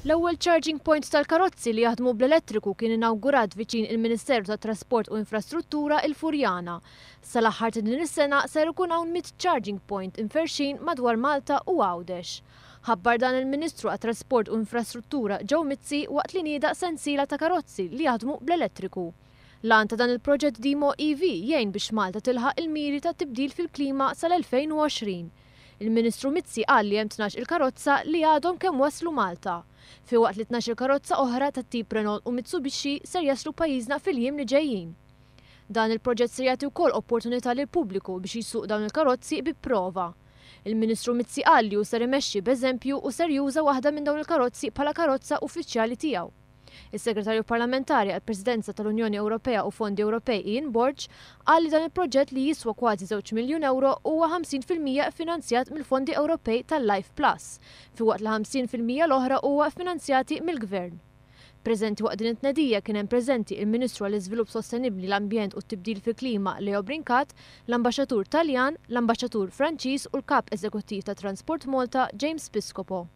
L-ewwel charging point tal-karozzi li jaħdmu bl-elettriku kien inawgurat viċin il-Ministeru tat-Trasport u Infrastruttura il-Furjana. Sal-aħħar ta' din is-sena ser ikun hawn 100 charging point imferrxin madwar Malta u Għawdex. Ħabbar dan il-Ministru għat-Trasport u Infrastruttura Joe Mizzi waqt li nieda sensiela ta' karozzi li jaħdmu bl-elettriku. L-għan ta' dan il-proġett DEMO EV jgħin biex Malta tilħaq il-miri ta' tibdil fil-klima sal-2020. Il-Ministru Mizzi qal li hemm 12-il karozza li għadhom kemm waslu Malta, filwaqt li 12-il karozza oħra tat-tip Renault u Mitsubishi ser jaslu pajjiżna fil-jiem li ġejjin. Dan il-proġett ser jagħti wkoll opportunità lill-pubbliku biex jsuq dawn il-karozzi bi prova. Il-Ministru Mizzi qal li hu ser imexxi b'eżempju u ser juża waħda minn dawn il-karozzi bħala karozza uffiċjali tiegħu. Is-Segretarju Parlamentari għall-Presidenza tal-Unjoni Ewropea u Fondi Ewropej Ian Borg qal li dan il-proġett li jiswa kważi żewġ miljun ewro huwa 50% ffinanzjat mill-fondi Ewropej tal-Life Plus, filwaqt li 50% l-oħra huwa ffinanzjati mill-Gvern. Preżenti waqt din it-tnedija kien hemm preżenti il-Ministru għall-Iżvilupp Sostenibbli, l-Ambjent u t-Tibdil fil-Klima Leo Brincat, l-Ambaxxatur Taljan, l-Ambaxxatur Franċiż u l-Kap Eżekuttiv ta' Transport Malta James Piscopo.